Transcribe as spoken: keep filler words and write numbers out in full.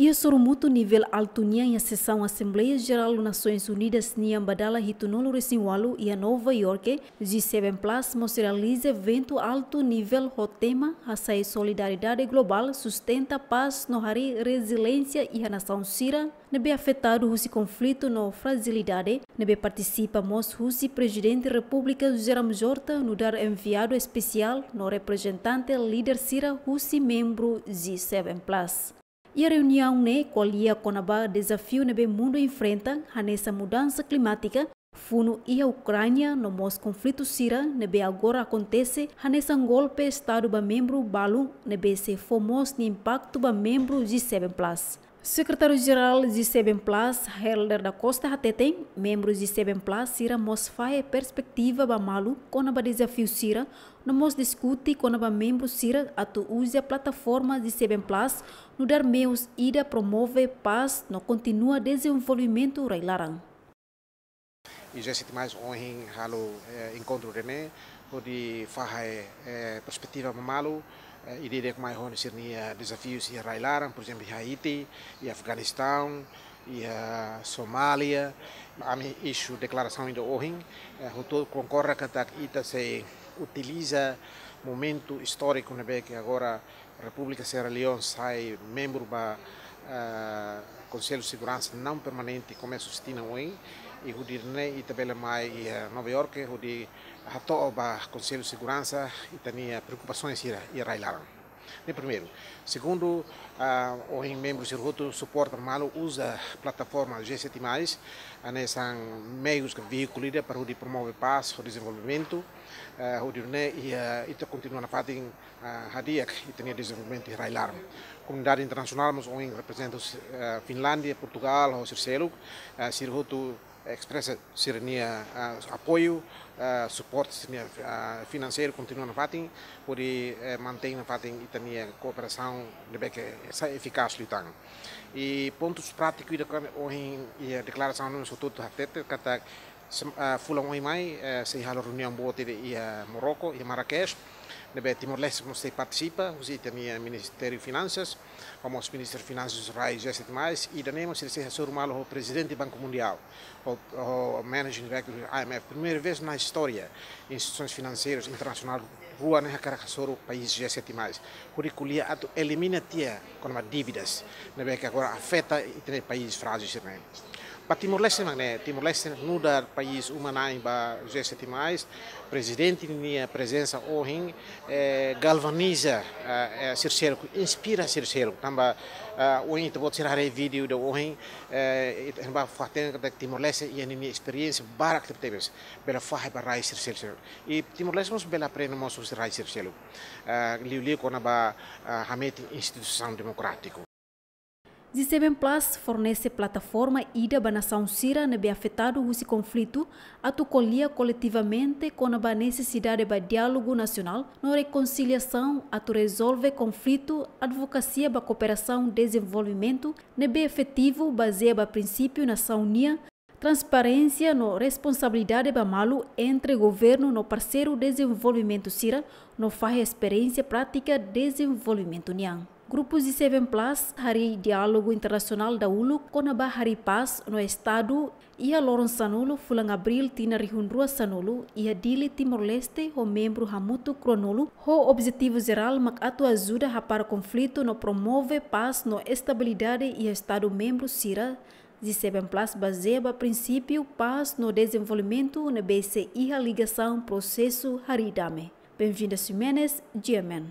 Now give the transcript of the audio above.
Iha sorumutu nivel altu nian iha sesaun Asembleia Jerál Nasoins Unidas nian ba dala hitunulu resin ualu iha Nova Iorke, G seven Plus mós realiza eventu altu nivel ho tema Hasa'e Solidariedade Globál, Sustenta Pás no Harii Reziliénsia iha Nasaun Sira ne'ebé afetadu husi konflitu no frajilidade, ne'ebé partisipa mós husi Prezidente Repúblika José Ramos Horta, nu'udar enviadu espesiál no reprezentante líder sira husi membru G seven Plus. Iha reuniaun ne'e ko'alia kona-ba dezafiu ne'ebé mundu enfrenta, hanesan mudansa klimátika, funu iha Ukránia no mós konflitu sira ne'ebé agora akontese, hanesan golpe Estadu ba membru balu ne'ebé sei fó mós nia impaktu ba membru G seven Plus. Sekretáriu Jerál G seven Plus, Helder da Costa hateten, membru G seven Plus sira mós fahe perspetiva ba malu kona-ba dezafiu sira, no mós diskute kona-ba membru sira atu uza plataforma G seven Plus nu'udar meius ida promove pás no kontinua dezenvolvimentu rai-laran. I G seven Plus ohin halo, eh, enkontru ida-ne'e, hodi fahe, eh, perspetiva ba malu, eh, ida-idak mai ho sira-nia dezafiu iha rai-laran, por ezemplu, iha Haiti, iha Afeganistaun, iha Somália. Ami isu deklarasaun ida ohin, eh, hotu konkorda katak ita sei utiliza momentu istóriku ne'ebé ke agora Repúblika Sierra Leone sai membru ba, eh, Konsellu Seguransa Não Permanente, komesu husi tinan oin, i hodi nune'e ita bele mai iha, eh, Nova Iorke, hodi hato'o ba Konsellu Seguransa ita-nia preokupasaun sira iha rai-laran. Ne'e primeiru. Segundu, ah, ohin membru sira hotu suporta malu uza plataforma G seven Plus, hanesan meius ka veíkulu ida para hodi promove pás, ho dezenvolvimentu, eh, hodi nune'e, eh, ita kontinua nafatin, ah, hadi'a ita-nia dezenvolvimentu iha rai-laran. Komunidade internasionál mós ohin reprezenta, eh, Finlándia, Portugál, ho sira seluk, eh, sira hotu espresa sira-nia, ah, apoiu, ah, suporta sira-nia, ah, finanseiru kontinua nafatin, hodi, eh, mantein nafatin ita-nia kooperasaun ne'ebé ke sai efikás liután. I pontus prátiku ida-ne'ebé ohin iha deklarasaun ne'e hotu hatete katak sem-, ah, fulan oin mai, eh, sei halo reuniaun boot ida iha Marrokos, iha Marrakech, ne'ebé Timor-Leste mós sei partisipa, husi ita-nia Ministériu Finansas, ho mós Ministru Finansas rai G seven Plus, i ida-ne'e mós sei hasoru malu ho Prezidente Banku Mundiál, ho, ho Managing Director I M F. Primeira vez na istória, instituisoens finanseiras internasionál rua ne'e hakarak hasoru país G seven Plus. Hodi ko'alia atu elimina tiha kona-ba dívidas ne'ebé ke agora afeta ita-nia país frájil sira-ne'e. Ba Timor-Leste mak ne'e, Timor-Leste nu'udar país uma-na'in ba G seven Plus, Prezidente nia prezensa ohin, eh, galvaniza, eh, eh, sira seluk, inspira sira seluk. Tanba, eh, ohin ita-boot sira haree vídeo ida ohin, eh, ita, ita bá fatin katak Timor-Leste iha ninia esperiénsia barak tebetebes, bele fahe ba rai sira seluk. I Timor-Leste mós bele aprende mós husi rai sira seluk. Eh, liuliu kona-ba, eh, hametin instituisaun demokrátiku. G seven Plus fornese plataforma ida ba nasaun sira ne'ebé afetadu husi konflitu atu ko'alia koletivamente kona-ba nesesidade ba diálogu nasionál no rekonsiliasaun atu rezolve konflitu, advokasia ba kooperasaun dezenvolvimentu ne'ebé efetivu, bazeia ba prinsípiu nasaun nian, transparénsia no responsabilidade ba malu entre governu no parseiru dezenvolvimentu sira, no fahe esperiénsia prátika dezenvolvimentu nian. Grupu G seven Plus harii diálogu internasionál dahuluk kona-ba harii pás no Estadu iha loron sanulu fulan Abríl tinan rihun rua sanulu iha Dili, Timor-Leste, ho membru hamutuk ruanulu, ho objetivu jerál mak atu ajuda hapara konflitu no promove pás no estabilidade iha Estadu membru sira. G seven Plus bazeia ba prinsípiu pás no dezenvolvimentu ne'ebé sei iha ligasaun prosesu harii dame. Benvinda Ximenes, G M N.